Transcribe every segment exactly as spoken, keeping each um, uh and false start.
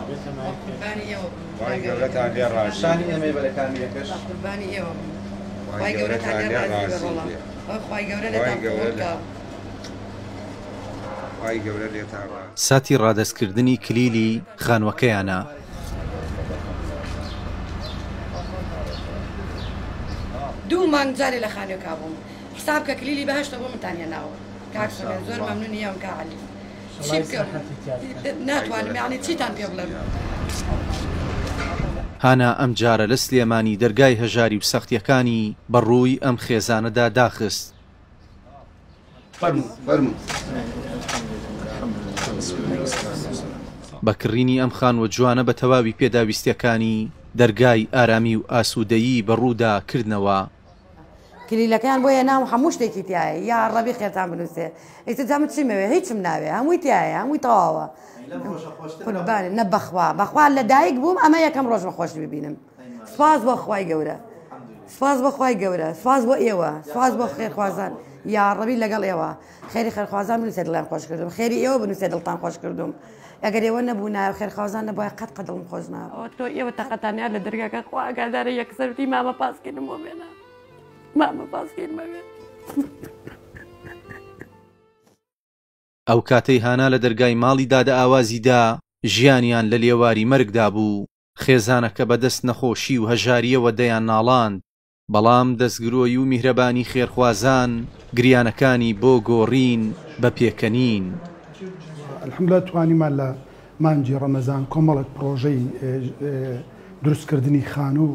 قوربانی ئێوە بم. خوای گەورەتان لێ ڕازی شانی ئێمەی بە لە کامیرەکەش. بە قوربانی ئێوە بم. خوای خوای گەورەتان گەورەتان لێ لێ ڕازی بێ ڕازی ڕۆڵە. بێ. خوای گەورە خوای لێتان گەورە قبوڵ لە کا. خوای گەورە لێتان ڕازی. ساتی ڕادەستکردنی کلیلی خانووەکەیانە. دوو مانگ جارێ لە خانووێکا بووم، حساب کە کلیلی بەهەشتە بۆ منتان هێناوە. کاک سۆران زۆر مەمنونی ئێوەم کاک عەلی. چی بکەم ناتوانم، یعنی چیتان پێ بڵێم. هانا ئەم جارە لە سلێمانی دەرگای هەژاری و سەختیەکانی بە ڕووی ئەم خێزانەدا داخست. بە کڕینی ئەم خانووە جوانە بە تەواوی پێداویستیەکانی دەرگای ئارامی و ئاسوودەیی بە ڕوودا کردنەوە. کلیلەکەیان بۆ هێنام و هەموو شتێکی تایە، یا ڕەبی خێرتان بنووسێ. ئیتر جا من چیمەوێ؟ هیچم ناوێ، هەمووی تایە، هەمووی تەواوە. قوربانە نە بەخوا، بەخوا لە دایک بووم ئەمە یەکەم ڕۆژمە خۆش ببینم. سوپاس بۆ خوای گەورە، سوپاس بۆ خوای گەورە، سوپاس بۆ ئێوە، سوپاس بۆ خێرخوازان. یا ڕەبی لەگەڵ ئێوە خێری خێرخوازان بنووسێ دڵیان خۆش کردوم، خێری ئێوە بنووسێ دڵتان خۆش کردوم. ئەگەر ئێوە نەبوونایە و خێرخوازان نەبووایە قەت قەت دڵم خۆش نابوو. تۆ ئێوە تەقەتانیان لە دەرگاکە خوا ئاگادارە، یەکسەر وتی مامە پاسکیلم بۆ بێنە، مامە پاسکیلم بێنە. ئەو کاتەی هانا لە دەرگای ماڵی دادە ئاوازیدا ژیانیان لە لێواری مەرگدا بوو، خێزانەکە بەدەست نەخۆشی و هەژاریەوە دەیان ناڵاند، بەڵام دەستگرۆی و میهرەبانی خێرخوازان گریانەکانی بۆ گۆڕین بە پێکەنین. الحەمدلله توانیمان لە مانگی ڕەمەزان کۆمەڵێک پرۆژەی دروستکردنی خانوو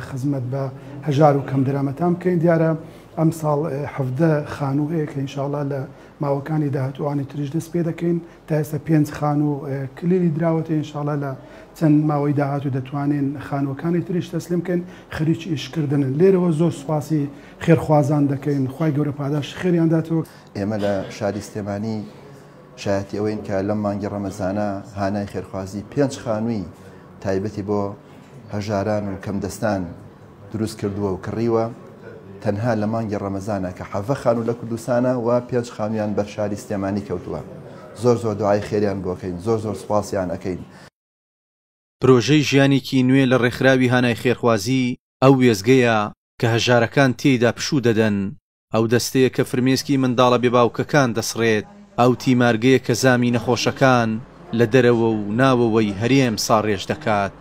خزمەت بە هەژار و کەمدەرامەتان بکەین. دیارە ئەم ساڵ حەفدە خانوو هەیە کە ئینشاءڵڵا لە ماوەکانی داهاتووانی تریش دەست پێ دەکەین. تا ئێستا پێنج خانوو کلیلی دراوەتە، ئینشاءڵڵا لە چەند ماوەی داهاتوو دەتوانین خانووەکانی تریش تەسلیم بکەین. خەریکی ئیشکردنن. لێرەوە زۆر سوپاسی خێرخوازان دەکەین، خوای گەورە پاداش خێریان داتەوە. ئێمە لە شاری سلێمانی شایەتی ئەوەین کە لەم مانگی ڕەمەزانە هانای خێرخوازی پێنج خانووی تایبەتی بۆ هەژاران و کەمدەستان دروست کردووە و کڕیوە، تەنها لە مانگی ڕەمەزانە کە حەڤە خانوو لە کوردستانە و پێنج خانوویان بەر شاری سلێمانی کەوتووە. زۆر زۆر دوعای خێریان بۆکەین، زۆر زۆر سوپاسیان ئەکەین. پرۆژەی ژیانێکی نوێ لە ڕێکخراوی هانای خێرخوازی ئەو وێزگەیە کە هەژارەکان تێیدا پشوو دەدەن، ئەو دەستەیە کە فرمێسکی منداڵە بێباوکەکان دەسڕێت، ئەو تیمارگەیە کە زامی نەخۆشەکان لە دەرەوە و ناوەوەی هەرێم ساڕێژ دەکات.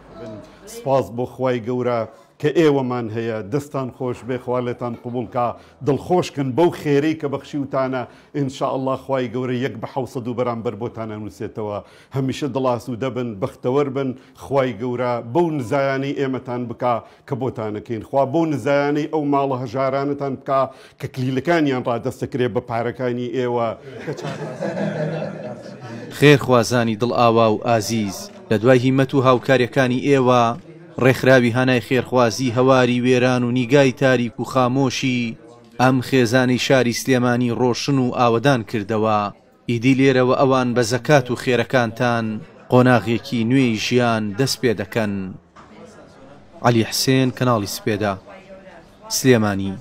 سپاس بۆ خوای گەورە کە ئێوەمان هەیە، دەستان خۆش بێ، خوا لێتان قبوڵکا، دڵخۆشکن بەو خێرەی کە بەخشیوتانە. ئینشاءڵڵا خوای گەورە یەک بە حەوسەد و بەرامبەر بۆتان ئەنووسێتەوە. هەمیشە دڵاسوودە بن، بەختەوەر بن. خوای گەورە بەو نزایانەی ئێمەتان بکا کە بۆتانەکەین، خوا بەو نزایانەی ئەو ماڵە هەژارانەتان بکا کە کلیلەکانیان ڕادەستەکرێ بە پارەکانی ئێوە. خێرخوازانی دڵ ئاوا و ئازیز، لە دوای هیمەت و هاوکاریەکانی ئێوە ڕێکخراوی هانای خێرخوازی هەواری وێران و نیگای تاریک و خامۆشی ئەم خێزانی شاری سلێمانی ڕۆشن و ئاوەدان کردەوە. ئیدی لێرەوە ئەوان بە زەکات و خێرەکانتان قۆناغێکی نوێی ژیان دەست پێ دەکەن. عەلی حسێن، کەناڵی سپێدە، سلێمانی.